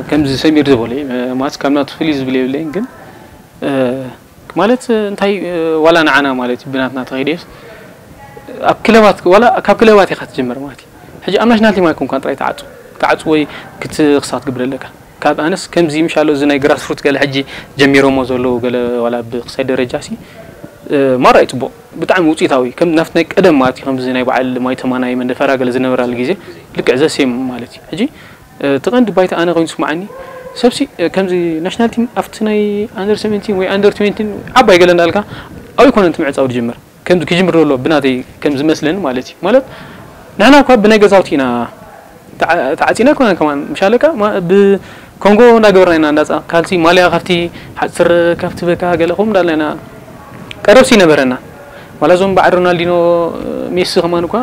ከምዚ ሰሚር ዝበሎ እዩ፣ ማለት ካብ ናቱ ፍልይ ዝብል የብለይን። ግን ማለት እንታይ፣ ዋላ ንዓና ማለት እዩ ብናትና ተኸይደስ ኣብ ክለባት፣ ዋላ ካብ ክለባት ኢኻ ትጀምር ማለት እዩ። ሕጂ ኣብ ናሽናል ቲም ኣይኮንኳን ጥራይ ተዓፁ ተዓፁ ወይ ክትክሳት ግብረ ኣለካ። ካብ ኣነስ ከምዚ ምሻሎ እዚ ናይ ግራስሩት ገለ ሕጂ ጀሚሮሞ ዘለዉ ገለ ዋላ ብክሳይ ደረጃ ሲ ማራ እዩ ፅቡቕ፣ ብጣዕሚ ውፅኢታዊ ከም ናፍት ናይ ቀደም ማለት እዩ። ከምዚ ናይ በዓል ማይ ተማናይ መንደፈራ ገለ ዝነበራሉ ግዜ ልክዕ ዘሴም ማለት እዩ። ሕጂ እቲ ቀንዲ ባይታ ኣነ ኮይኑ ስማዓኒ ሰብሲ ከምዚ ናሽናል ቲም ኣብቲ ናይ ኣንደር ሰቨንቲን ወይ ኣንደር ትዌንቲን ዓባይ ገለ እንዳልካ ኣብይ ኮነ እቲ ምዕፃው ዝጅምር ከምዚ ክጅምር ዘሎ ብናተይ ከም ዝመስለኒ ማለት እዩ። ማለት ንሕና እኳ ብናይ ገዛውቲ ኢና ተዓ- ተዓፂና ኣይኮነን ከማን ምሻለካ ማ- ብኮንጎ እንዳገበርና ኢና እንዳፃ ካልሲ ማልያ ካብቲ ሓፅር ካብቲ በካ ገለ ከምኡ እንዳልና ኢና ቀረብሲ ነበረና። ዋላ እዞም በዓል ሮናልዲኖ ሜሲ ከማን እኳ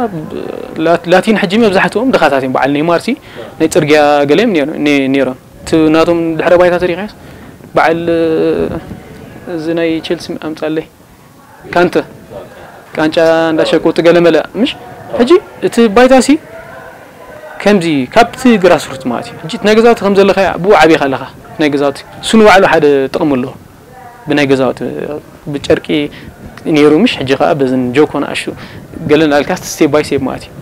ላት- ላቲን ሕጂ መብዛሕትኦም ድኻታት እዮም። በዓል ኔይማርሲ ናይ ፅርግያ ገለ እዮም ነይሮ- ነ- ነይሮም። እቲ ናቶም ድሕረ ባይታ ተሪኻስ በዓል እዚ ናይ ቼልሲ ኣምፃለይ ካንተ ቃንጫ እንዳሸቁ ትገለመለ ምሽ ሕጂ እቲ ባይታሲ ከምዚ ካብቲ ግራስሩት ማለት እዩ። ሕጂ ናይ ገዛውቲ ከም ዘለኻ ብኡ ዓብኻ ኣለኻ ናይ ገዛውቲ እሱ ንባዕሉ ሓደ ጥቕሚ ኣለዎ። ብናይ ገዛውቲ ብጨርቂ ነይሩ ምሽ ሕጂ ከዓ በዝን ጆኮ ንኣሹ ገለ እንዳልካ ስቴፕ ባይ ስቴፕ ማለት እዩ።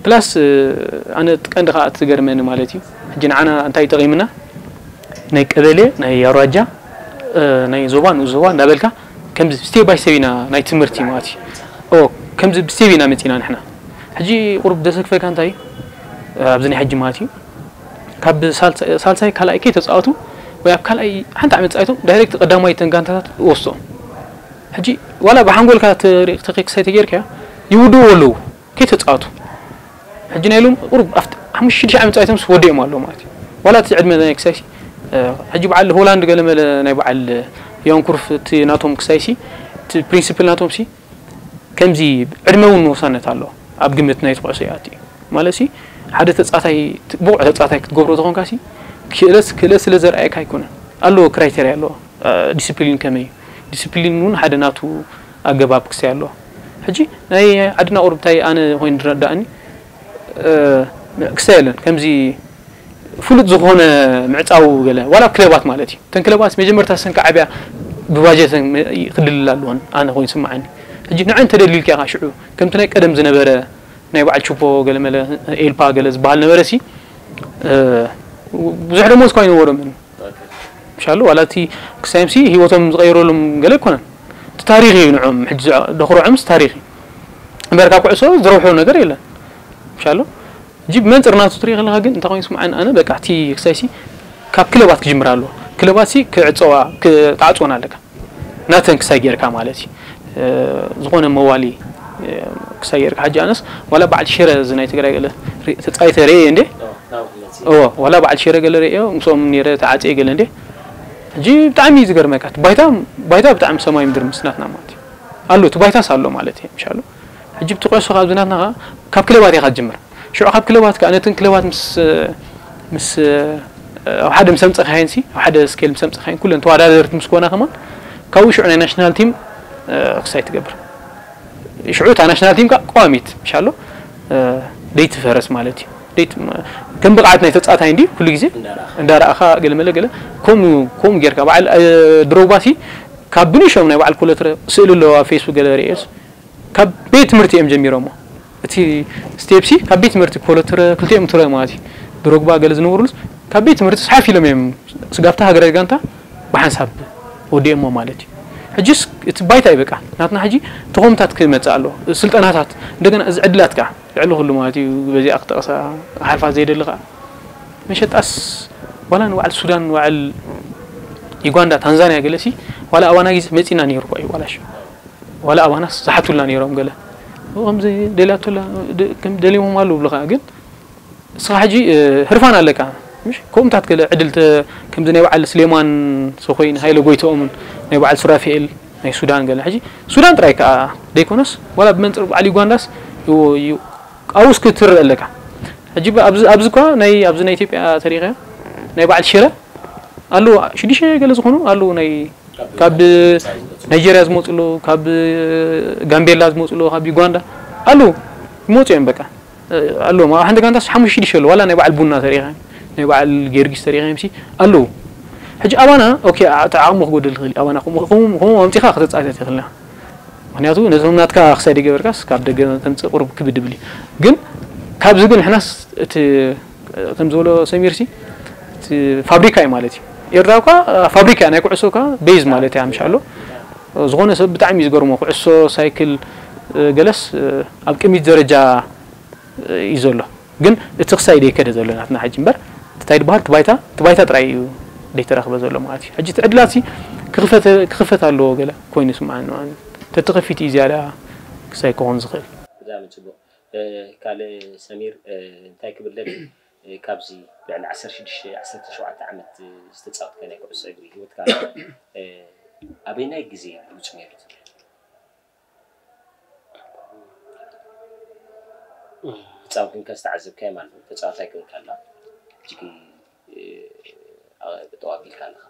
ፕላስ ኣነ ቀንዲ ከዓ ትገርመኒ ማለት እዩ። ሕጂ ንዓና እንታይ ጠቒምና ናይ ቀበሌ ናይ ኣውራጃ ናይ ዞባ ንኡስ ዞባ እንዳበልካ ከምዚ ስቴፕ ባይ ስቴፕ ኢና ናይ ትምህርቲ ማለት እዩ። ኦ ከምዚ ብስቴፕ ኢና መፂና ንሕና። ሕጂ ቁሩብ ደሰክፈካ እንታይ ኣብዚ ናይ ሕጂ ማለት እዩ ካብ ሳልሳይ ካልኣይ ከይ ተፃወቱ ወይ ኣብ ካልኣይ ሓንቲ ዓመት ፃይቶም ዳይሬክት ቀዳማይ ተን ጋንታታት ወስቶም። ሕጂ ዋላ ብሓንጎልካ ተክሳይ ተጌርካ ይውድዎ ኣለዉ ከይ ተፃወቱ። ሕጂ ናይ ሎም ቁሩብ ኣብቲ ሓሙሽተ ሽዱሽተ ዓመት ፃይቶም ወዲኦም ኣለዉ ማለት እዩ። ዋላ እቲ ዕድመ ናይ ክሳይሲ ሕጂ በዓል ሆላንድ ገለመለ ናይ በዓል ዮንኩርፍ እቲ ናቶም ክሳይሲ እቲ ፕሪንሲፕል ናቶም ሲ ከምዚ ዕድመ እውን ወሳነት ኣለዎ ኣብ ግምት ናይ ተኩዕሶ ይኣቲ እዩ ማለት ሲ ሓደ ተጻታይ ብቑዕ ተጻታይ ክትገብሮ ተኾንካ ሲ ክእለት ክእለት ስለ ዘርኣየካ ኣይኮነን ኣለዎ ክራይቴርያ ኣለዎ። ዲስፕሊን ከመይ እዩ ዲስፕሊን እውን ሓደ ናቱ ኣገባብ ክሳይ ኣለዎ። ሕጂ ናይ ዓድና ቁርብታይ ኣነ ኮይኑ ዝረዳእኒ ክሳይ የለን ከምዚ ፍሉጥ ዝኾነ ምዕፃው ገለ ዋላ ክለባት ማለት እዩ። እተን ክለባት መጀመርታ ሰን ክዓብያ ብባጀተን ክድልላ ኣለዎን ኣነ ኮይኑ ስምዓኒ። ሕጂ ንዐን ተደሊልካ ኢኻ ሽዑ ከምቲ ናይ ቀደም ዝነበረ ናይ በዓል ቹፖ ገለ መለ ኤልፓ ገለ ዝበሃል ነበረ ሲ ብዙሕ ደሞዝ እኳ ኣይነበሮምን። ምሻሉ ዋላ እቲ ክሳይም ሲ ህይወቶም ዝቐይረሎም ገለ ኣይኮነን። እቲ ታሪኽ እዩ ንዕኦም ሕጂ ደኽርዖምስ ታሪኽ እዩ። እምበር ካብ ኩዕሶ ዝረብሖ ነገር የለን። ምሻሉ ሕጂ ብመንፅር ናቱ ትሪኢ ከለካ ግን እንታይ ኮይኑ ስምዓኒ ኣነ በቃ እቲ ክሳይ ሲ ካብ ክለባት ክጅምር ኣለዎ። ክለባት ሲ ክዕፀዋ ክትዓፅወን ኣለካ ናተን ክሳይ ጌርካ ማለት እዩ። ዝኾነ መዋሊ ክሳይ ጌርካ ሕጂ ኣነስ ዋላ በዓል ሽረ እዚ ናይ ትግራይ ገለ ተፃይተ ርእየ እንዴ ዋላ በዓል ሽረ ገለ ርእዮ ምስኦም ነረ ተዓፅየ ገለ እንዴ ሕጂ ብጣዕሚ እዩ ዝገርመካ ባይታ ባይታ ብጣዕሚ ሰማይ ምድር ምስናትና ማለት እዩ። ኣሎ እቲ ባይታስ ኣሎ ማለት እዩ ምሻሉ። ሕጂ ብቲ ኩዕሶ ካብዚ ናትና ካብ ክለባት ኢኻ ትጅምር። ሽዑ ካብ ክለባት ከኣ ነተን ክለባት ምስ ምስ ኣብ ሓደ ምስ ኣምፀኻየን ሲ ኣብ ሓደ ስኬል ምስ ኣምፀኻየን ኩለን ተወዳደርቲ ምስ ኮና ከማን ካብኡ ሽዑ ናይ ናሽናል ቲም ክሳይ ትገብር። ሽዑ እታ ናሽናል ቲም ከኣ ቀዋሚት ምሻሎ ደይትፈረስ ማለት እዩ። ከም ብቕዓት ናይ ተፃታይ እንዲ ኩሉ ግዜ እንዳረኣኻ ገለመለ ገለ ከምኡ ከምኡ ጌርካ በዓል ድሮግባ ሲ ካብ ብንሾም ናይ በዓል ኮለትረ ስእሊ ኣለዎ ኣብ ፌስቡክ ገለ ርእየስ ካብ ቤት ትምህርቲ እዮም ጀሚሮሞ። እቲ ስቴፕሲ ካብ ቤት ትምህርቲ ኮለትረ ክልቲኦም ትረ ማለት እዩ። ድሮግባ ገለ ዝነበሩሉስ ካብ ቤት ትምህርቲ ሓፍ ኢሎም እዮም ስጋብታ ሃገራዊ ጋንታ ብሓንሳብ ወዲኦሞ ማለት እዩ። ሕጂስ እቲ ባይታ ይበቃ ናትና ሕጂ ተኾምታት ክመፅእ ኣለዎ ስልጠናታት እንደገና እዚ ዕድላት ከዓ ልዕሊ ኩሉ ማለት እዩ። በዚኣ ክጠቕሳ ሓልፋ ዘይደሊ ከዓ መሸጣስ ዋላ ንባዕል ሱዳን ንባዕል ዩጋንዳ ታንዛንያ ገለሲ ዋላ ኣባና ግዜ መፂና ነይሩ እኳ እዩ ዋላሽ ዋላ ኣባናስ ዝሓቱልና ነይሮም ገለ ከምዚ ደልያቶላ ከም ደልዮሞም ኣለዉ ብልኻ ግን እስኻ ሕጂ ህርፋን ኣለካ ምሽ ከምኡታት ገለ ዕድል ከምዚ ናይ በዓል ስሌማን ሰኮይን ሃይለ ጎይትኦምን ናይ በዓል ሱራፊኤል ናይ ሱዳን ገለ ሕጂ ሱዳን ጥራይ ከዓ ደይኮነስ ዋላ ብመንፅር በዓል ዩጋንዳስ ኣብኡስ ክትርእ ኣለካ ሕጂ ኣብዚ እኳ ናይ ኣብዚ ናይ ኢትዮጵያ ተሪኸ ናይ በዓል ሽረ ኣለዉ ሽዱሽተ ገለ ዝኾኑ ኣለዉ ናይ ካብ ናይጀርያ ዝመፁ ኣለዉ ካብ ጋምቤላ ዝመፁ ኣለዉ ካብ ዩጋንዳ ኣለዉ ይመፁ እዮም በቃ ኣለዎም ኣብ ሓንቲ ጋንታስ ሓሙሽተ ሽዱሽተ ኣለዉ ዋላ ናይ በዓል ቡና ተሪኸ ናይ በዓል ጊዮርጊስ ተሪኺ MC ኣለዉ። ሕጂ ኣባና ኦኬ፣ እቲ ዓቕሙ ክጎድል ይኽእል እዩ። ኣባና ከምኡ ከምኡ ከምኡ ኣምጺኻ ከተጻወት ኣይትኽእልን ኢኻ። ምኽንያቱ ነዞም ናትካ ክሳይ ደይገበርካስ ካብ ደገ ተምጽእ ቁሩብ ክብድ ይብል እዩ። ግን ካብዚ ግን ንሕናስ እቲ ከም ዝበሎ ሰሚርሲ እቲ ፋብሪካ እዩ ማለት እዩ። ኤርትራ እኳ ፋብሪካ እያ፣ ናይ ኩዕሶ እኳ ቤዝ ማለት እያ ምሽ ኣሎ። ዝኾነ ሰብ ብጣዕሚ እዩ ዝገርሞ። ኩዕሶ፣ ሳይክል፣ ገለስ ኣብ ቅድሚት ደረጃ እዩ ዘሎ። ግን እቲ ክሳይ ደይከደ ዘሎ ናትና ሕጂ እምበር እንታይ ዝበሃል እቲ ባይታ፣ እቲ ባይታ ጥራይ እዩ ደይተረኽበ ዘሎ ማለት እዩ። ሕጂ እቲ ዕድላት ሲ ክኽፈት፣ ክኽፈት ኣለዎ ገለ ኮይኑ ይስምዓኒ ማለት እዩ። ተተኸፊት እዩ ዝያዳ ክሳይ ክኾን ዝኽእል። ብጣዕሚ ጽቡቕ። ካልእ ሰሚር እንታይ ክብል ደሊ፣ ካብዚ ልዕሊ ዓሰርተ ሽዱሽተ ዓሰርተ ሸውዓተ ዓመት ዝተጻወትካ ናይ ኩዕሶ እግሪ ህይወትካ፣ ኣበይናይ ግዜ እዩ ብሉጽ ነይሩ ትብል? ተጻዋታይ ኮንካ ዝተዓዘብካዮ ማለት ነው። ተጻዋታይ ኮንካ ኣላ እጅግ ብጠዋቢልካ ኣለኻ።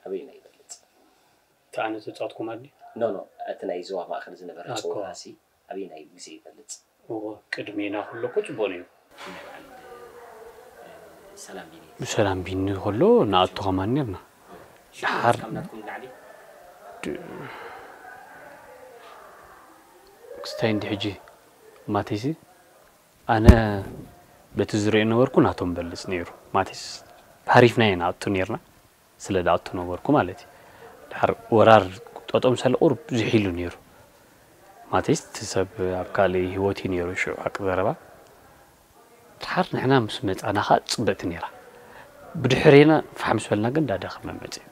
ኣበይና ይበልጽ? እቲ ኣነ ተጻወትኩ ማለት ድዩ? ኖ ኖ፣ እቲ ናይ ዞባ ማእከል ዝነበረ ኣኮ። ጸወታ ሲ ኣበይናይ ግዜ ይበልጽ? እዎ፣ ቅድሜና ከሎ እኮ ጽቡቕ ነይሩ። ናይ በዓል ሰላም ቢኒ ብሰላም ቢኒ ከሎ ንኣቱ ከማን ነርና። ድሓር ካብ ናትኩም ንላዕሊ ክስታይ እንዲ ሕጂ ማቴሲ ኣነ በቲ ዝሪኦ ነበርኩ ናቶም በልጽ ነይሩ። ማቴስ ሓሪፍና ኢና ኣቱ ነርና ስለ ዝኣቱ ነበርኩ ማለት እዩ። ድሓር ወራር ጠጦም ሰለ ቁሩብ ዝሒሉ ነይሩ። ማቴስ እቲ ሰብ ኣብ ካልእ ህይወት እዩ ነይሩ ሽዑ ሓቂ ዘረባ። ድሓር ንሕና ምስ መጻና ኸኣ ጽብቕቲ ነይራ። ብድሕሬና ፋሕ ምስ በልና ግን ዳደኸመ መጺኡ።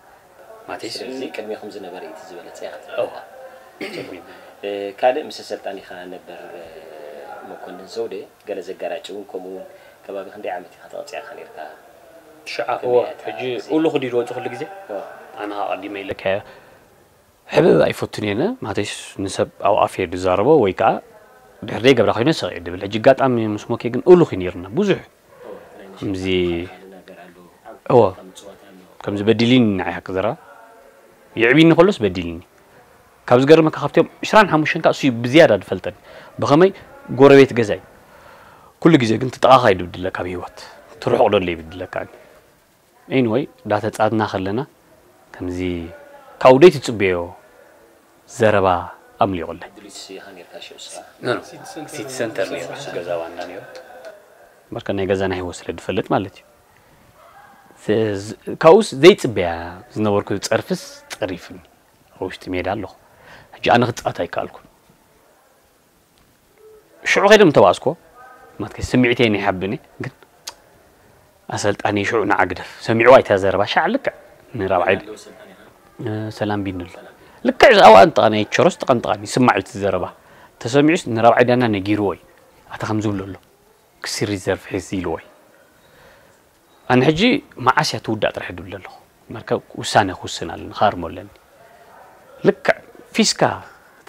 ማቴስ ስለዚ ቅድሜኹም ዝነበረ እዩ እቲ ዝበለጸ ኢኻ ትብል ኣለኻ። ካልእ ምስ ኣሰልጣኒኻ ነበር መኮንን ዘውዴ ገለ ዘጋራጭ እውን ከምኡ እውን ከባቢ ክንደይ ዓመት ኢኻ ተቐጺዕኻ ነርካ? ትሽዓ ከመይ እዋ እያ እታ ሕጂ ግዜ? ኡሉ ክዲ ዝወፁ ኩሉ ግዜ እዋ። ኣነ ኣቐዲመ ኢለካዮ ሕብብ ኣይፈቱን እየ ነ ማቴስ ንሰብ ኣብ ኣፍ እየ ዝዛረቦ ወይ ከዓ ድሕር ደይ ገብራ ኮይነ ሰቕ እየ ድብል ሕጂ ኣጋጣሚ ምስ ሞኬ ግን ኡሉ ኩ ነይርና ብዙሕ ከምዚ እዋ ከምዚ በዲሊን ንዓይ ሓቂ ዘረባ የዕቢኒ ከሎስ በዲልኒ ካብ ዝገርመካ ካብቶም ዕስራን ሓሙሽተን ከዓ እሱ እዩ ብዝያዳ ዝፈልጠኒ ብኸመይ ጎረቤት ገዛይ ኩሉ ግዜ ግን ትጠቓኻ እዩ ድብድለካ ኣብ ህይወት ትርሕቕ ደሎ ይብድለካ ኣኒ ኤኒወይ እንዳተፃትና ከለና ከምዚ ካብኡ ደይ ትፅበዮ ዘረባ ኣምሊቑለይ ድሊት ኢኻ ነርካ ሽዑ ስኻ No, no. ሲቲ ሰንተር ነይሩ እሱ ገዛ ዋና ነይሩ። በርካ ናይ ገዛና ህይወት ስለ ዝፈልጥ ማለት እዩ ካብኡስ ዘይፅበያ ዝነበርኩ ፀርፍስ ፀሪፍኒ ኣብ ውሽጢ ሜዳ ኣለኹ ሕጂ ኣነ ክፃወት ኣይከኣልኩን ሽዑ ከይደ ምተባእስኮ ማትከ ስምዒተይ ናይ ሓብኒ ግን ኣሰልጣኒ ሽዑ ንዓ ግደፍ ሰሚዕዋ ኣይታ ዘረባ ሻዕ ልክዕ ንራብዓይ ሰላም ቢንሉ ልክዕ ኣብኣ ንጥቓኒ ኣይቸሮስ ጥቐን ጥቓኒ ስማዕ እቲ ዘረባ ተሰሚዑስ ንራብዓይ ዳና ነጊርዎ እዩ ኣታ ከም ዝብሎ ኣሎ ክሲ ሪዘርቭ ሒዝ ኢልዎ እዩ ኣነ ሕጂ መዓስ እያ ትውዳእ ጥራሕ ድብል ኣለኹ መርከብ ውሳነ ክውስን ኣለኒ ክሃርሞ ኣለኒ ልክዕ ፊስካ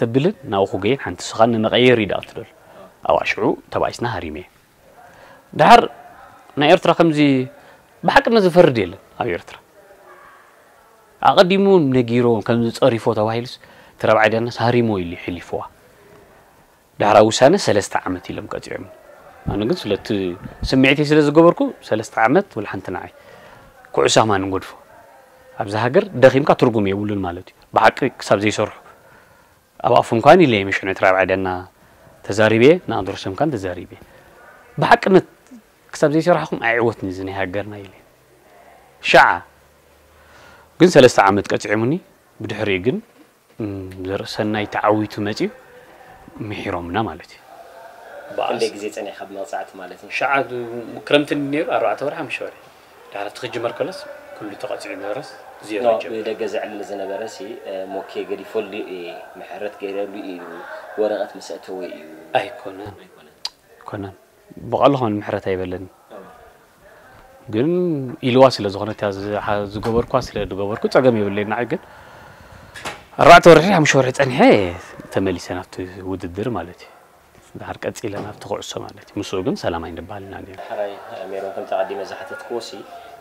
ተብልን ናብኡ ክገይን ሓንቲ ስኻ ንመቐየር ይዳእቱ ደሎ ኣብኣ ሽዑ ተባኢስና ሃሪመ እየ ድሓር ናይ ኤርትራ ከምዚ ብሓቅነት ዝፈርድ የለን ኣብ ኤርትራ ኣቐዲሙ ነጊሮ ከምዚ ጸሪፎ ተባሂሉስ እቲ ረብዓይ ዳናስ ሃሪሞ ኢሉ ይሕሊፍዋ ዳሕራዊ ውሳነ ሰለስተ ዓመት ኢሎም ቀጺዖም ኣነ ግን ስለቲ ስምዒተይ ስለ ዝገበርኩ ሰለስተ ዓመት ወላ ሓንቲ ንዓይ ኩዕሶ ኣማን ንጎድፎ ኣብዚ ሃገር ደኺምካ ትርጉም የብሉን ማለት እዩ ብሓቂ ክሳብ ዘይሰርሑ ኣብ ኣፉም ካን ኢለ ምሽ ዕነት ራብዓ ደና ተዛሪቤ ንኣንድሮሰም ካን ተዛሪቤ ብሓቅነት ክሳብ ዘይሰራሕኹም ኣይዕወትን እዚ ናይ ሃገርና ኢለ ሻዓ ግን ሰለስተ ዓመት ቀጺዖምኒ ብድሕሪኡ ግን ዘርእሰናይ ተዓዊቱ መጺኡ ምሒሮምና ማለት እዩ። ክንደይ ግዜ ጸኒሕካ ብመቕጻዕቲ ማለት እዩ? ሸዓ ክረምቲ ነይሩ ኣርባዕተ ወርሒ ሓሙሽተ ወርሒ ድሕሪ እቲ ክጅመር ከሎስ ኩሉ ተቐጺዑ ነበረስ ዜሮ ጀመረ። ብደገ ዘዕልል ዝነበረ ሲ ሞኬ ገዲፈሉ እየ ምሕረት ገይረሉ እዩ ወረቐት ምስ ኣእተወ እዩ። ኣይኮነን። ኣይኮነን። ብቐልኹም ምሕረት ኣይበለኒ ግን ኢልዋ ስለ ዝኾነት እያ ዝሓ- ዝገበርኳ ስለ ዝገበርኩ ጸገም የብለይ ንዓይ ግን ኣርባዕተ ወርሒ ሓሙሽተ ወርሒ ጸኒሐ ተመሊሰ ናብቲ ውድድር ማለት እዩ ድሓር ቀጺለ ናብቲ ኩዕሶ ማለት እዩ ምስኡ ግን ሰላም ኣይንበሃል ኢና ነይሩ ሕራይ ሜሮን ከምቲ ኣቐዲመ ዝሓተትክዎ ሲ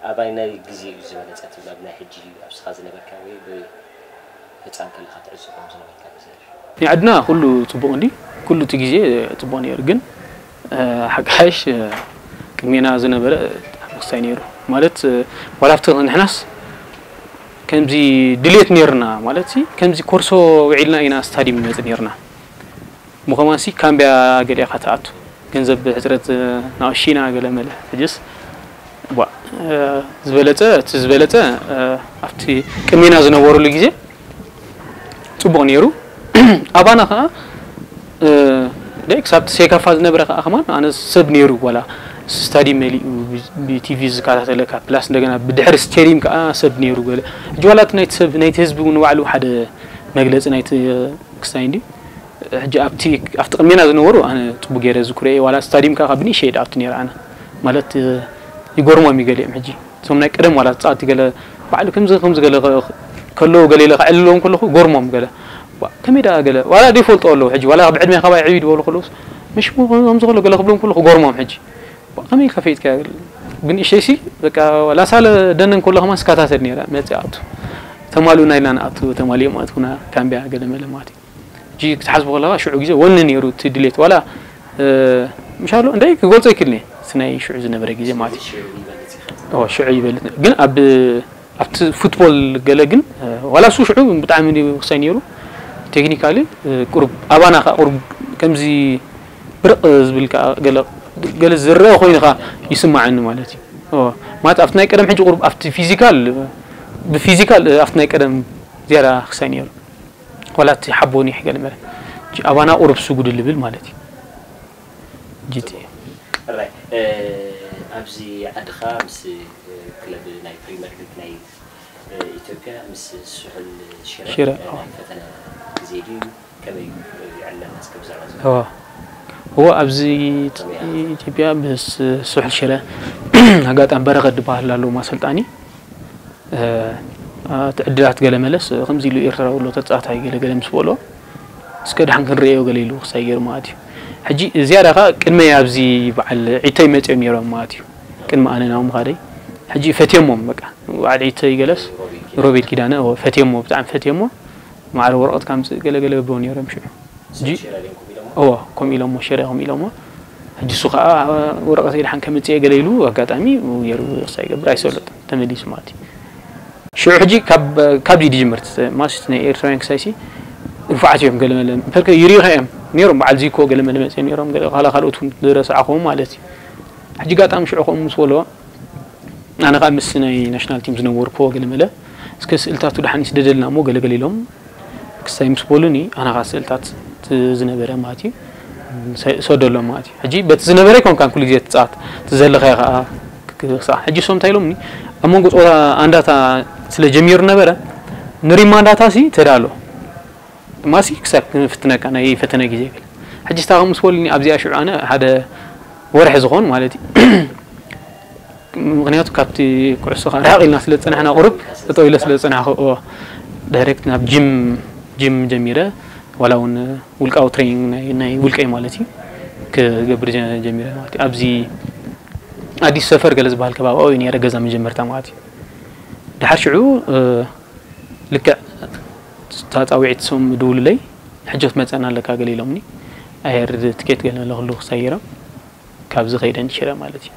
ኣባይ ናይ ግዜ እዩ ዝበለጸ ትብል ኣብ ናይ ሕጂ ኣብ ስኻ ዝነበርካ ወይ ብ- ህፃን ከለኻ ትዕዘቦም ዝነበርካ ብዝሕ ናይ ዓድና ኩሉ ፅቡቅ እንዲ ኩሉ እቲ ግዜ ፅቡቅ ነይሩ ግን ሓቂ ሓይሽ ቅድሜና ዝነበረ ብጣዕሚ ክሳይ ነይሩ። ማለት ዋላ ኣብቲ ንሕናስ ከምዚ ድሌት ነይርና፣ ማለት ከምዚ ኮርሶ ውዒልና ኢና ስታዲም ንመጽእ ነይርና። ምኸማንሲ ካምቢያ ገሊእኻ ትኣቱ፣ ገንዘብ ሕፅረት ናቕሺና ገለ መለ። ሕጅስ ቧ ዝበለፀ እቲ ዝበለፀ ኣብቲ ቅድሜና ዝነበሩሉ ግዜ ፅቡቕ ነይሩ። ኣባና ከዓ ደይ ክሳብ ሴካፋ ዝነበረ ከዓ ከማን ኣነ ሰብ ነይሩ ዋላ ስታዲ መሊኡ ብቲቪ ዝከታተለካ ፕላስ እንደገና ብድሕሪ ስቴዲም ከዓ ሰብ ነይሩ ገለ። ሕጂ ዋላ እቲ ናይቲ ሰብ ናይቲ ህዝቢ እውን ባዕሉ ሓደ መግለፂ ናይቲ ክስታይ እንዲ ሕጂ ኣብቲ ኣብቲ ቅድሜና ዝነበሩ ኣነ ፅቡቅ ገይረ ዝኩረ ዋላ ስታዲም ከዓ ብንእሸይ ዳኣቱ ነይረ ኣነ ማለት ይጎርሞም ይገሊኦም ሕጂ እቶም ናይ ቀደም ዋላ ፃቲ ገለ ባዕሉ ከምዚ ከምዚ ገለ ከለዉ ገለ ኢለ ከዕልሎም ከለኹ ጎርሞም ገለ ከመይ ደኣ ገለ ዋላ ደይፈልጦ ኣለዉ ሕጂ ዋላ ብዕድሜ ካባይ ዕብይ ዝበሉ ከለውስ ምሽ ከምዚ ከሎ ገለ ክብሎም ከለኹ ጎርሞም ሕጂ ከመይ ከፈይጥካ ብንእሸይሲ በቃ ላሳለ ደነን ከሎ ከማን ስካታተል ነይራ መፅኣቱ ተማልኡና ኢልና ንኣቱ ተማሊኦም ኣትኩና ካምቢያ ገለ መለ ማለት እዩ ሕጂ ክትሓስቡ ከለኻ ሽዑ ግዜ ወኒ ነይሩ እቲ ድሌት ዋላ ምሻሎ እንታይ ክገልጾ ይክልኒ እቲ ናይ ሽዑ ዝነበረ ግዜ ማለት እዩ ሽዑ ይበልጥ ግን ኣብ ኣብቲ ፉትቦል ገለ ግን ዋላ እሱ ሽዑ ብጣዕሚ ክሳይ ነይሩ ቴክኒካሊ ቁሩብ ኣባና ከዓ ቁሩብ ከምዚ ብርቕ ዝብል ከዓ ገለ ገለ ዝረአ ኮይኑ ከዓ ይስማዓኒ ማለት እዩ ማለት ኣብቲ ናይ ቀደም ሕጂ ቁሩብ ኣብቲ ፊዚካል ብፊዚካል ኣብቲ ናይ ቀደም ዝያዳ ክሳይ ነይሩ ዋላ እቲ ሓቦን ይሕ ገለ መለ ኣባና ቁሩብ ስጉድ ልብል ማለት እዩ ጂቲ ኣብዚ ዓድኻ ምስ ክለብ ናይ ፕሪመር ሊግ ናይ ኢትዮጵያ ምስ ስሑል ሽረ ሽረ፣ ናይ ፈተነ ግዜ ድዩ? ከመይ ይዕለና እስከ ብዛዕባ እዚ? እዎ። እዎ፣ ኣብዚ ኢትዮጵያ ምስ ስሑል ሽረ ኣጋጣሚ በረኸት ዝበሃል ኣሎ ኣሰልጣኒ። እቲ ዕድላት ገለ መለስ ከምዚ ኢሉ ኤርትራዊ ኣሎ ተጻዋታይ ገለ ገለ ምስ በሎ እስከ ደሓን ክንርእዮ ገለ ኢሉ ክሳይ ገይሩ ማለት እዩ። ሕጂ ዝያዳ ከኣ ቅድመይ ኣብዚ በዓል ዒተይ መጺኦም ነይሮም ማለት እዩ። ቅድሚ ኣነ ናብኡ ምኻደይ ሕጂ ፈትዮሞም በቃ በዓል ዒተይ ገለስ ሮቤል ኪዳነ እዎ ፈትዮሞ ብጣዕሚ ፈትዮሞ ማዕረ ወረቐት ካምጽእ ገለ ገለ ብሎ ነይሮም ሽዑ። እዎ ከምኡ ኢሎሞ ሽረ ከምኡ ኢሎሞ ሕጂ እሱ ከዓ ወረቐተይ ደሓን ከምፅእ ገለ ኢሉ ኣጋጣሚ ገይሩ ሳ ይገብር ኣይሰለጥ ተመሊሱ ማለት እዩ ሽዑ ሕጂ ካብዚ ድጅምር ማስት ናይ ኤርትራውያን ክሳይሲ ንፉዓት እዮም ገለመለ ፈልከ ይሪኢኻ እዮም ነይሮም በዓል ዚኮ ገለመለ መፅኦም ነይሮም ካላ ካልኦት ዝረስዓኹም ማለት እዩ ሕጂ ጋጣሚ ሽዑ ከምኡ ምስ በሎ ኣነ ከዓ ምስ ናይ ናሽናል ቲም ዝነበርኩዎ ገለመለ እስከ ስእልታቱ ደሓን ይስደደልና እሞ ገለገለ ኢሎም ክሳይ ምስ በሉኒ ኣነ ከዓ ስእልታት ዝነበረ ማለት እዩ ሰደሎም ማለት እዩ ሕጂ በቲ ዝነበረ ይኮንካን ኩሉ ግዜ ትፃወት እቲ ዘለኻዮ ከዓ ክሳዕ ሕጂ ሶም እንታይ ኢሎምኒ ኣብ መንጎ ፀወታ ኣንዳታ ስለ ጀሚሩ ነበረ ንሪማ ኣንዳታ ሲ ተዳሎ ማሲ ክሳብ ክንፍትነካ ናይ ፈተነ ግዜ ይብል ሕጂ ስታ ምስ በሉኒ ኣብዚኣ ሽዑ ኣነ ሓደ ወርሒ ዝኾን ማለት እዩ ምክንያቱ ካብቲ ኩዕሶ ከዓ ርሕቕ ኢልና ስለ ዝፀናሕና ቁሩብ ጠጠው ኢለ ስለ ዝፀናሕኩ እዎ ዳይሬክት ናብ ጂም ጂም ጀሚረ ዋላ እውን ውልቃዊ ትሬኒንግ ናይ ውልቀይ ማለት እዩ ክገብር ጀሚረ ማለት እዩ ኣብዚ ኣዲስ ሰፈር ገለ ዝበሃል ከባቢ ኣብኡ ነረ ገዛ መጀመርታ ማለት እዩ ድሓር ሽዑ ልክዕ ታፃዊዒት ሶም ድውሉለይ ሕጂ ክትመፀና ኣለካ ገለ ኢሎምኒ ኣየር ትኬት ገለ ለክሉ ክሳይሮም ካብዚ ከይደ ንሽረ ማለት እዩ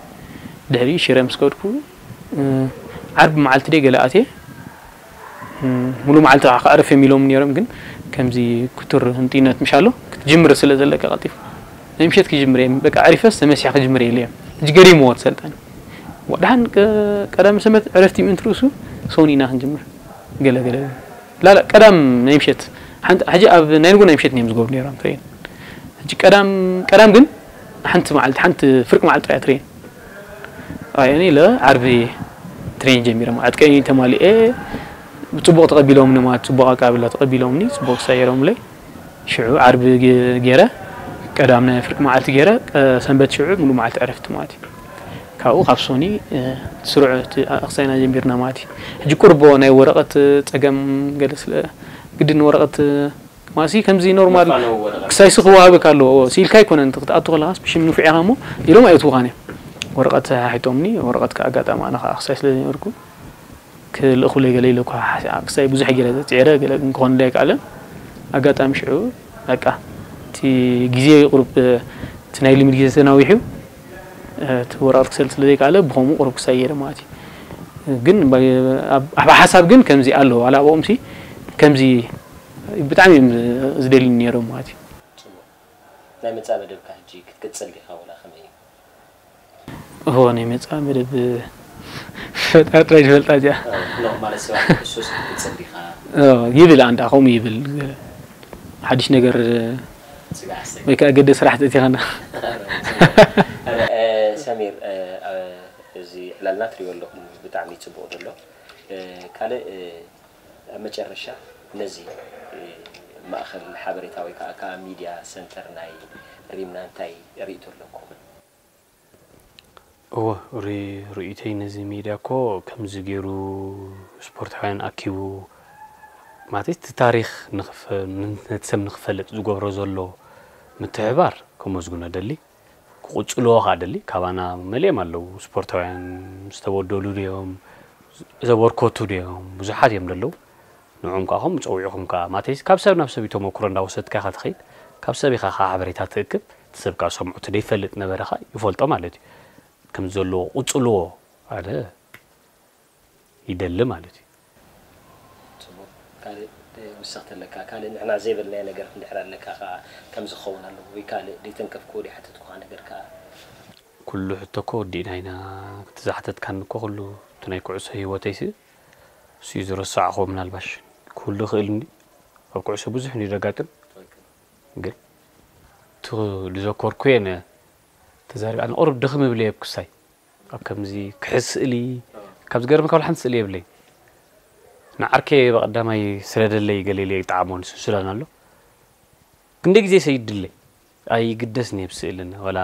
ድሕሪ ሽረ ምስ ከድኩ ዓርቢ መዓልቲ ደይ ገለ ኣትየ ሙሉ መዓልቲ ከዓ ክዕርፍ እዮም ኢሎም ነይሮም ግን ከምዚ ክቱር ህንጢነት ምሽ ኣሎ ክትጅምር ስለ ዘለካ ቀልጢፍ ናይ ምሸት ክጅምር እዮም በቃ ዕሪፈስ ተመሲሐ ክጅምር የለ እዮም ሕጂ ገሪምዎ ትሰልጠኒ ወድሓን ቀዳሚ ሰንበት ዕረፍቲ ምእንቲ ርእሱ ሰውን ኢና ክንጅምር ገለ ገለ ላላ ቀዳም ናይ ምሸት ሓንቲ ሕጂ ኣብ ናይ ንጎ ናይ ምሸት እዮም ዝገብሩ ነይሮም ትሬን ሕጂ ቀዳም ቀዳም ግን ሓንቲ መዓልቲ ሓንቲ ፍርቂ መዓልቲ ጥራይ ትሬን ኣየኒ ኢለ ዓርቢ ትሬን ጀሚረ ማለት ቀይ ተማሊኤ ብፅቡቅ ተቀቢሎምኒ ማለት ፅቡቅ ኣቀባብላ ተቀቢሎምኒ ፅቡቅ ሳይሮምለይ ሽዑ ዓርቢ ገይረ ቀዳም ናይ ፍርቂ መዓልቲ ገይረ ሰንበት ሽዑ ሙሉ መዓልቲ ዕረፍቲ ማለት እዩ ካብኡ ካብ ሶኒ ስሩዕ ኣክሳይና ጀሚርና ማለት እዩ ሕጂ ቁርቦ ናይ ወረቀት ፀገም ገለ ስለ ግድን ወረቀት ማሲ ከምዚ ኖርማል ክሳይሲ ክወሃበካ ኣለዎ ሲኢልካ ኣይኮነን ክትኣቱ ከለካስ ብሽም ንፉዕ ኢኻ እሞ ኢሎም ኣየትውኻን እዮም ወረቀት ሓሒጦምኒ ወረቀት ኣጋጣሚ ኣነ ከዓ ክሳይ ስለ ዝነበርኩ ክልእኹለይ ገለ ኢለ እኳ ክሳይ ብዙሕ ገለ ፅዕረ ገለ ግን ክኾንለይ ኣይከኣለን ኣጋጣሚ ሽዑ በቃ እቲ ግዜ ቁሩብ እቲ ናይ ልምድ ግዜ ተናዊሑ እቲ ወረቐት ክሰል ስለ ዘይከኣለ ብኸምኡ ቁሩብ ክሳይ ገይረ ማለት እዩ። ግን ባ- ኣብ ኣብ ሓሳብ ግን ከምዚ ኣሎ፣ ዋላ ኣብኦምሲ ከምዚ ብጣዕሚ እዮም ዝደልዩኒ ነይሮም ማለት እዩ። ናይ መጻኢ መደብካ ሕጂ ክትቅጽል ዲኻ ወላ ከመይ እዩ? እዎ ናይ መጻኢ መደብ ፈጣሪ ጥራይ ዝፈልጣ እዚኣ። ኖ ማለት ሰባት ኩዕሶ ክትቅጽል ዲኻ? ይብል ኣንዳ ከምኡ ይብል ሓድሽ ነገር ስጋዕ ኣስተይ ወይ ከዓ ገደ ስራሕ ተእቲኻና። ሰሚር እዚ ዕላልና ትሪኦ ኣለኹም ብጣዕሚ ፅቡቅ ዘሎ። ካልእ ኣብ መጨረሻ ነዚ ማእኸል ሓበሬታ ወይ ከዓ ከዓ ሚድያ ሰንተር ናይ ሪምና እንታይ ርእይቶ ኣለኩም? እወ ሪ- ርእይተይ ነዚ ሚድያ እኮ ከምዚ ገይሩ ስፖርታውያን ኣኪቡ ማለት እቲ ታሪኽ ንኽፈ- ነቲ ሰብ ንኽፈልጥ ዝገብሮ ዘሎ ምትሕባር ከመስግኖ ደሊ ክቕፅልዎ ከዓ ደሊ ካባና መሊኦም ኣለዉ ስፖርታውያን ዝተበደሉ ድዮም ዘበርከቱ ድዮም ብዙሓት እዮም ዘለዉ ንዕኦም ከዓ ከም ፀዊዕኹም ከዓ ማተይስ ካብ ሰብ ናብ ሰብ ተመክሮ እንዳወሰድካ ኢኻ ትኸይድ ካብ ሰብ ኢኻ ከዓ ሓበሬታ ትእክብ እቲ ሰብ ከዓ ሰምዑ እቲ ዘይፈልጥ ነበረ ከዓ ይፈልጦ ማለት እዩ ከም ዘለዎ ቁፅልዎ ኣነ ይደሊ ማለት እዩ ፅቡቅ ካልእ ወሰኽቲ ኣለካ ካልእ ንሕና ዘይበልናዮ ነገር እንድሕር ኣለካ ከዓ ከም ዝኸውን ኣለዎ ወይ ካልእ ዘይተንከፍክዎ ዘይሓተትኩካ ነገር ከዓ ኩሉ ሕቶ እኮ ወዲእና ኢና እቲ ዝሓተትካኒ እኮ ኩሉ እቲ ናይ ኩዕሶ ህይወተይ ሲ እሱ እዩ ዝረሳዕኹ ምናልባሽ ክህሉ ይኽእል እንዲ ኣብ ኩዕሶ ብዙሕ እንዲ ዘጋጥም ግን እቲ ዝዘከርኩ እየ ተዛሪብ ኣነ ቁሩብ ድኽም እብል እየ ክሳይ ኣብ ከምዚ ክሕዝ ስእሊ ካብ ዝገርም ካብ ሓንቲ ስእሊ የብለይ ንዓርከ በቐዳማይ ስረደለይ ገለ ኢለ ይጠዓሞ ንሱ ሱዳን ኣሎ ክንደ ግዜ ሰይድለይ ኣይግደስን እየ ብስእልን ወላ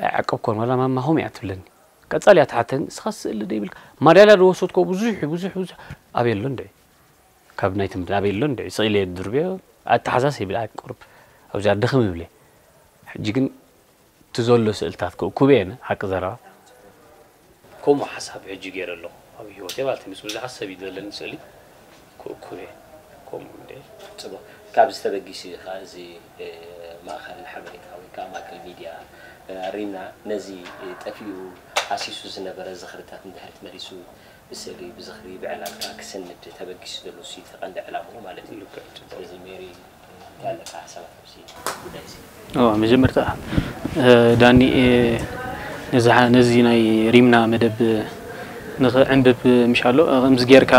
ኣይዓቀብኮን ወላ ማማ ሆም እያ ትብለኒ ቀጻል እያ ትሓተኒ እስኻ ስእሊ ዶ ይብልካ ማዳልያ ዝወሰድኮ ብዙሕ ብዙሕ ብዙሕ ኣበይ ኣሎ እንድዒ ካብ ናይ ትምህርቲ ኣበይ ኣሎ እንድዒ ስቕ ኢለ ድርብዮ ኣተሓሳስ ይብል ኣይ ቁሩብ ኣብዚኣ ድኽም ይብለ ሕጂ ግን እቲ ዘሎ ስእልታት ክእኩብ እየ ሓቂ ዘረባ ከምኡ ሓሳብ ሕጂ ገይረ ኣለኹ ኣብ ህይወተይ ማለት እዩ ምስ ብዙሓት ሰብ እዩ ዘለኒ ስእሊ ክእኩብ እየ ከምኡ እንደ ፅቡቅ ካብዚ ተበጊሱ እዩ ከዓ እዚ ማእኸል ሓበሬታ ወይ ከዓ ማእከል ሚድያ ሪምና ነዚ ጠፊኡ ሃሲሱ ዝነበረ ዝኽርታት እንድሕር ተመሊሱ ብስእሊ ብዝኽሪ ብዕላል ከዓ ክስንድ ተበጊሱ ዘሎ እሱ እቲ ቀንዲ ዕላምኡ ማለት እዩ ስለዚ ሜሪ እንታይ ኣለካ ሓሳባት ኣብዚ ጉዳይ እዚ መጀመርታ ዳኒ ነዚ ናይ ሪምና መደብ ንኽዕንብብ ምሻሎ ከምዚ ጌርካ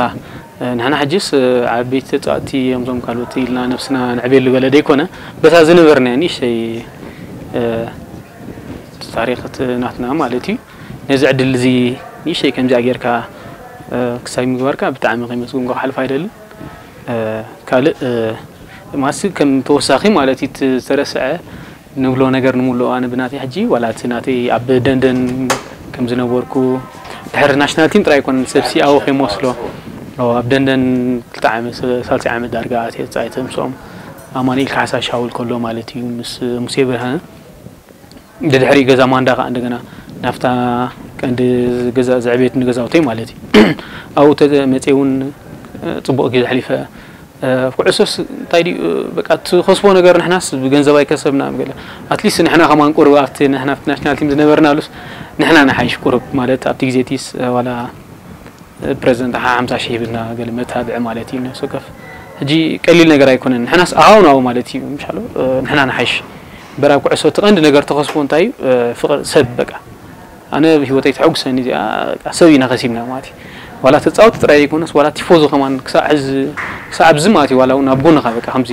ንሕና ሕጅስ ዓበይቲ ተፃወቲ እዮም ዞም ካልኦት ኢልና ነብስና ንዕቤሉ ገለ ደይኮነ በታ ዝነበርና ንእሽተይ ታሪክ ናትና ማለት እዩ ነዚ ዕድል እዚ ንእሽተይ ከምዚኣ ጌርካ ክሳይ ምግባርካ ብጣዕሚ ከመስግንካ ክሓልፍ ኣይደልን ካልእ ማሲ ከም ተወሳኺ ማለት እዩ ዝተረስዐ ንብሎ ነገር ንምሉእ ኣነ ብናተይ ሕጂ ዋላ እቲ ናተይ ኣብ ደንደን ከም ዝነበርኩ ድሕሪ ናሽናል ቲም ጥራይ ይኮነ ሰብሲ ኣወ ከይመስሎ ኣብ ደንደን ክልተ ዓመት ሳልሲ ዓመት ዳርጋ ኣትየ ተፃይተ ምስኦም ኣማኒኤል ካሕሳ ሻውል ከሎ ማለት እዩ ምስ ሙሴ ብርሃነ ድድሕሪ ገዛ ማንዳ ከዓ እንደገና ናብታ ቀንዲ ገዛ ዘዕቤት ንገዛውተይ ማለት እዩ ኣብኡ ተመፅየ እውን ፅቡቅ ግዜ ኣሕሊፈ ኩዕሶስ እንታይ ድዩ በቃ ትኸስቦ ነገር ንሕናስ ብገንዘብ ኣይከሰብና ገለ ኣትሊስት ንሕና ከማን ቁሩብ ኣብቲ ንሕና ኣብቲ ናሽናል ቲም ዝነበርናሉስ ንሕና ንሓይሽ ቁሩብ ማለት ኣብቲ ግዜ ቲስ ዋላ ፕረዚደንት ሓ ሓምሳ ሺህ ሂብና ገለ መታብዒ ማለት እዩ ነፍሲ ወከፍ ሕጂ ቀሊል ነገር ኣይኮነን ንሕናስ ኣሃው ናው ማለት እዩ ምሻሎ ንሕና ንሓይሽ በራ ኩዕሶ እቲ ቀንዲ ነገር ተኸስቦ እንታይ እዩ ፍቅር ሰብ በቃ ኣነ ህይወተይ ተሐጉሰኒ እዚኣ በቃ ሰብ ኢና ከሲብና ማለት እዩ ዋላ ተፃወቲ ጥራይ ዘይኮነስ ዋላ ቲፎዞ ከማን ክሳዕ ሕዚ ክሳዕ ኣብዚ ማለት እዩ ዋላ እውን ኣብ ጎንኻ በቃ ከምዚ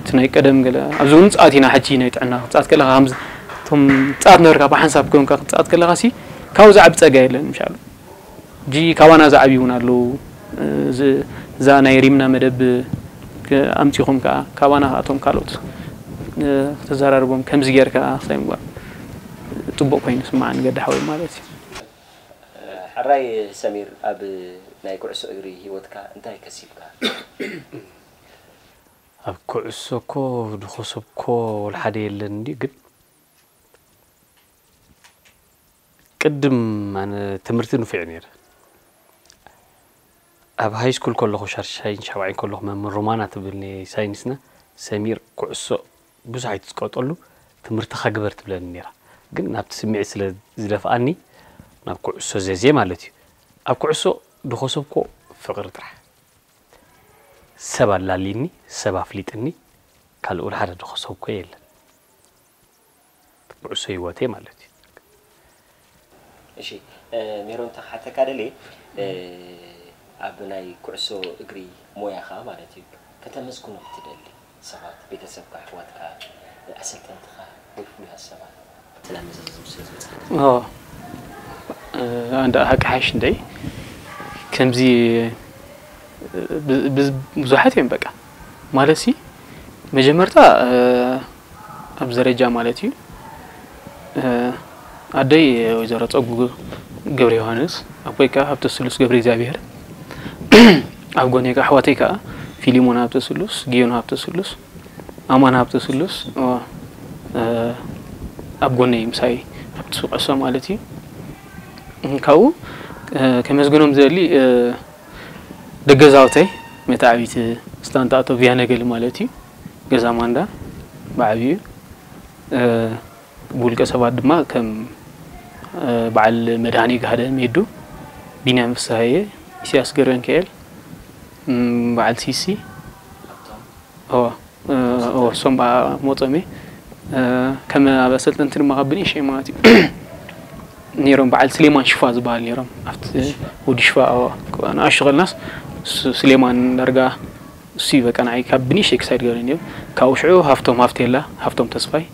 እቲ ናይ ቀደም ገለ ኣብዚ እውን ፃት ኢና ሕጂ ናይ ጥዕና ክፃት ከለካ ከምዚ እቶም ፃት ነበርካ ብሓንሳብ ኮንካ ክፃት ከለካ ሲ ካብኡ ዝዓቢ ፀጋ የለን ምሻሎ ሕጂ ካባና ዝዓብዩ እውን ኣለዉ እዛ ናይ ሪምና መደብ ኣምፂኹም ከዓ ካባና ከኣቶም ካልኦት ክተዘራርቦም ከምዚ ጌርካ ክሳይ ምግባር ፅቡቅ ኮይኑ ስማዓኒ ገዲ ሓወይ ማለት እዩ ሕራይ ሰሚር ኣብ ናይ ኩዕሶ እግሪ ህይወትካ እንታይ ከሲብካ ኣብ ኩዕሶ እኮ ዝኸሰብኮ ወላ ሓደ የለን እንዲ ግን ቅድም ኣነ ትምህርቲ ንፉዕ ነይረ ኣብ ሃይ ስኩል ከለኹ ሻርሻይን ሻብዓይን ከለኹ መምህር ሮማና ትብልኒ ሳይንስና ሰሚር ኩዕሶ ብዙሕ ኣይትፅቀጠሉ ትምህርትኻ ግበር ትብለኒ ነይራ ግን ናብቲ ስምዒት ስለ ዝደፍኣኒ ናብ ኩዕሶ ዘዜ ማለት እዩ። ኣብ ኩዕሶ ድኸሰብኮ ፍቕሪ ጥራሕ። ሰብ ኣላልይኒ፣ ሰብ ኣፍሊጥኒ፣ ካልእ ወላ ሓደ ድኸሰብኮ የለን። ኩዕሶ ህይወተይ ማለት እዩ። እሺ፣ ሜሮን፣ ተሓተካ ደልየ ኣብ ናይ ኩዕሶ እግሪ ሞያኻ ማለት እዩ ከተመስግኖም ትደሊ ሰባት፣ ቤተሰብካ፣ ኣሕዋትካ፣ ኣሰልጠንትኻ ወይ ፍሉያት ሰባት ሰላም መዘዘም ስለ ዝበፅሓ ኣዎ፣ ኣንዳ ሓቂ ሓሽ እንደ ከምዚ ብዙሓት እዮም በቃ ማለት ሲ መጀመርታ ኣብዚ ደረጃ ማለት እዩ ኣደይ ወይዘሮ ፀጉ ገብረ ዮሃንስ፣ ኣቦይ ከዓ ሃብተ ስሉስ ገብረ እግዚኣብሔር፣ ኣብ ጎነይ ከዓ ኣሕዋተይ ከዓ ፊሊሞን ሃብተ ስሉስ፣ ጊዮን ሃብተ ስሉስ፣ ኣማን ሃብተ ስሉስ ኣብ ጎነይ ምሳይ ኣብቲ ሱቕ ዕሶ ማለት እዩ። ካብኡ ከመስግኖም ዝደሊ ደገዛውተይ መታዕቢት ስታንጣቶ ቪያነገል ማለት እዩ። ገዛ ማንዳ ብዓብዩ ብውልቀ ሰባት ድማ ከም በዓል መድሃኒ ጋህደ ሜዱ፣ ቢንያም ፍስሃየ፣ ኢሳያስ ገብረንክኤል፣ በዓል ሲሲ እወ እወ እሶም ሞጾም እየ ከም ኣብ ኣሰልጠንቲ ድማ ካብ ብንእሽተይ ማለት እዩ ነይሮም በዓል ስሌማን ሽፋ ዝበሃል ነይሮም ኣብቲ ወዲ ሽፋ ንኣሽቱ ከልናስ ስሌማን ዳርጋ እሱ እዩ በቃ ንዓይ ካብ ብንእሽተይ ክሳይድ ገይሩ ነይሩ ካብኡ ሽዑ ሃፍቶም ሃፍቴላ ሃፍቶም ተስፋይ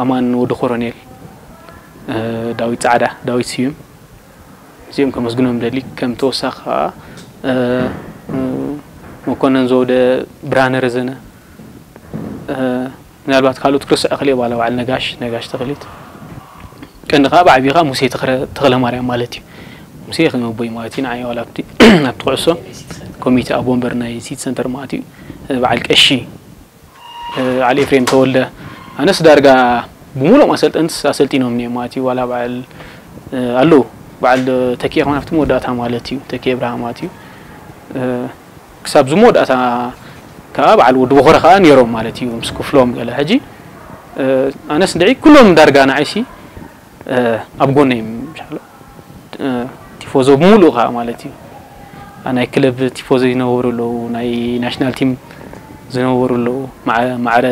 ኣማን ወዲ ኮሮኔል ዳዊት ጻዕዳ ዳዊት ስዩም እዚኦም ከመስግኖም ደሊ ከም ተወሳኺ ከዓ መኮነን ዘውደ ብርሃነ ረዘነ ምናልባት ካልኦት ክርስዕ ክልእ ባለ በዓል ነጋሽ ነጋሽ ተኽሊት ቀንዲ ከዓ ብዓብዩ ከዓ ሙሴ ተኽለ ማርያም ማለት እዩ ሙሴ ከም ኣቦይ ማለት እዩ ንዓይ ዋላ ኣብቲ ኩዕሶ ኮሚቴ ኣብ ወንበር ናይ ሲቲ ሰንተር ማለት እዩ በዓል ቀሺ በዓል ኤፍሬም ተወልደ ኣነስ ዳርጋ ብሙሉኦም ኣሰልጠንትስ ኣሰልጢኖምኒ እዮም ማለት እዩ ዋላ በዓል ኣለዉ በዓል ተኪኤ ከማን ኣብቲ መወዳእታ ማለት እዩ ተኪኤ ብርሃ ማለት እዩ ክሳብ ዝመወዳእታ ከዓ በዓል ወዲ በኾረ ከዓ ነይሮም ማለት እዩ ምስ ክፍሎም ገለ ሕጂ ኣነስ እንድዒ ኩሎም ዳርጋ ንዓይሲ ኣብ ጎነይ ቲፎዞ ብምሉእ ከዓ ማለት እዩ ናይ ክለብ ቲፎዞ ይነበሩ ኣለዉ ናይ ናሽናል ቲም ዝነበሩ ኣለዉ ማዕረ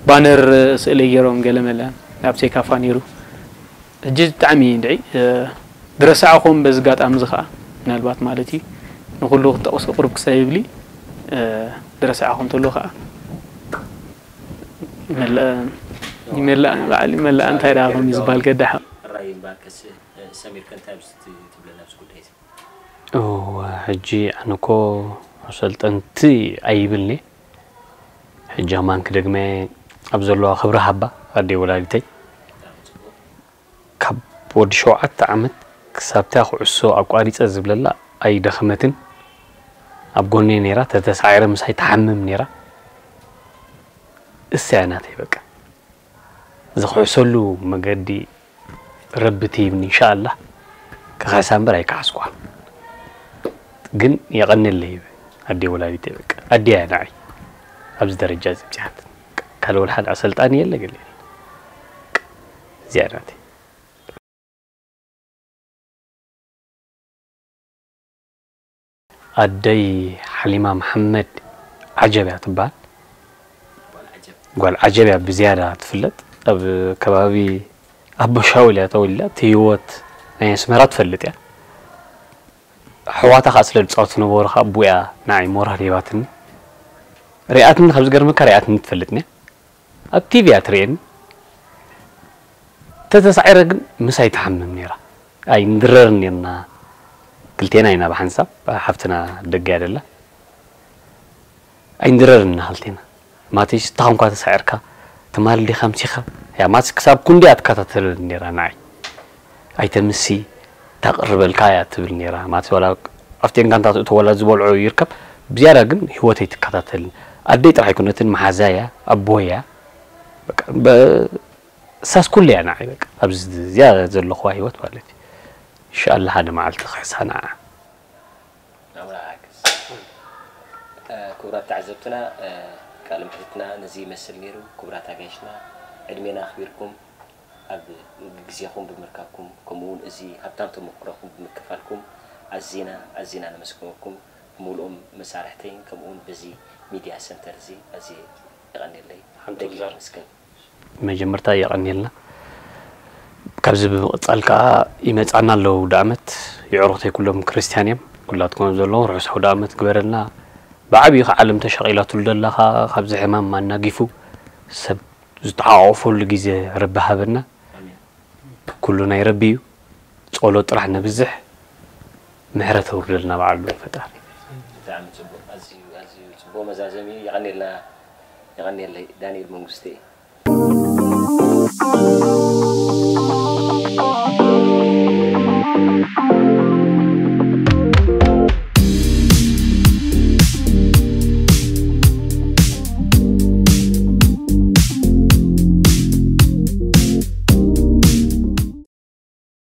ባነር ስእለይ ገይሮም ገለመለ ኣብ ሴካፋ ነይሩ ሕጂ ብጣዕሚ እንድዒ ዝረሳዕኹም በዚ ኣጋጣሚ እዚ ከዓ ምናልባት ማለት እዩ ንኩሉ ክጠቕሶ ቁሩብ ክሳብ ይብሊ ዝረሳዕኹም ተሎ ከዓ ይመላእ ይመላእ በዓል ይመላእ እንታይ ደኣ ከም ዝበሃል ገዳሕ ራይ እምበኣርከስ ሰሚርከ እንታይ ኣብዚ ትብለና ኣብዚ ጉዳይ እዚ እወ ሕጂ ኣነ እኮ ኣሰልጠንቲ ኣይብልኒ ሕጂ ኣማን ክደግመ ኣብ ዘለዋ ክብሪ ሃባ ኣደይ ወላዲተይ ካብ ወዲ ሸውዓተ ዓመት ክሳብታ ኩዕሶ ኣቋሪፀ ዝብለላ ኣይደኸመትን ኣብ ጎነይ ነይራ ተተሳዒረ ምሳይ ትሓምም ነይራ እሳ እያ ናተይ በቃ ዝኽሕሰሉ መገዲ ረቢ ትሂብኒ እንሻኣላህ ክኽሕሳ እምበር ኣይከሓስኩዋን ግን የቐንየለይ ኣደይ ወላዲተይ በቃ ኣደይ እያ ንዓይ ኣብዚ ደረጃ እዚ ኣብፂሓትኒ ካልእ ወላ ሓደ ኣሰልጣኒ የለ ገለ የለ እዚኣ ናተይ ኣደይ ሓሊማ መሓመድ ዓጀብ እያ ትበሃል። ጓል ዓጀብ እያ ብዝያዳ ትፍለጥ። ኣብ ከባቢ ኣቦ ሻውል እያ ተወሊዳ። እቲ ህይወት ናይ ኣስመራ ትፈልጥ እያ። ኣሕዋታ ከዓ ስለ ዝፃወቱ ዝነበሩ ከዓ ኣቦኣ እያ ንዓይ ሞራል ሂባትኒ። ሪኣትኒ ካብ ዝገርመካ ሪኣትኒ ትፈልጥኒ እያ። ኣብ ቲቪ እያ ትርእየኒ። ተተሳዒረ ግን ምሳይ ትሓምም ነይራ። ኣይንድረርን ኔርና። ክልቴና ኢና ብሓንሳብ። ሓፍትና ደገ እያ ደላ። ኣይንድረርን ኢና ክልቴና። ማለተይ ስታኻ እንኳ ተሳዒርካ ትማል ዲኻ ኣምሲኻ እያ ማለት ክሳብ ክንዲ እያ ትከታተለኒ ነይራ ንዓይ። ኣይተምሲ ታቕርበልካ እያ ትብል ነይራ ማለት ዋላ ኣብቲ እንጋንታ ትእቶ ዋላ ዝበልዖ ይርከብ ብዝያዳ ግን ህይወተይ ትከታተልኒ ኣደይ ጥራሕ ኣይኮነትን መሓዛ እያ ኣቦ እያ በቃ እሳስ ኩሉ እያ ንዓይ በቃ ኣብዚ እዚኣ ዘለኹዋ ህይወት ማለት እዩ ኢንሻኣላህ ሓደ መዓልቲ ክሕሳ ንዓ ኣምላኽ ሓግዝ ክቡራት ተዓዘብትና ቃለ ምሕትትና ነዚ ይመስል ነይሩ ክቡራት ኣጋይሽና ዕድሜና ኣኽቢርኩም ኣብ ግዜኹም ብምርካብኩም፣ ከምኡ እውን እዚ ሃብታም ተመክሮኹም ብምክፋልኩም ኣዚና ኣዚና ነመስግነኩም። ብምሉኦም መሳርሕተይን ከምኡ እውን በዚ ሚድያ ሰንተር እዚ ኣዝየ የቐንየለይ። ሓንቲ ደጊመ ውዛር። ኣመስግን። መጀመርታ የቐንየልና። ካብዚ ብምቕጻል ከኣ ይመጻና ኣለዉ ኣውደ ዓመት። የዕሩኽተይ ኩሎም ክርስትያን እዮም። ኩላትኩም ዘለዉ ርሑስ ኣውደ ዓመት ግበረልና። ብዓብዩ ከ ዓለም ተሻቒላትሉ ደላ ከኣ ካብዚ ሕማም ኣናጊፉ ሰብ ዝተሓቋቖፈሉ ግዜ ረቢ ሃበና። ኣሜን። ኩሉ ናይ ረቢ እዩ። ጸሎት ጥራሕ ነብዝሕ። ምሕረት ኣውርደልና በዓሉ ፈጣሪ። ብጣዕሚ ጽቡቕ፣ ኣዝዩ፣ ኣዝዩ ጽቡቕ መዛዘሚ እዩ። የቐንየልና፣ የቐንየለይ ዳንኤል መንግስቴ።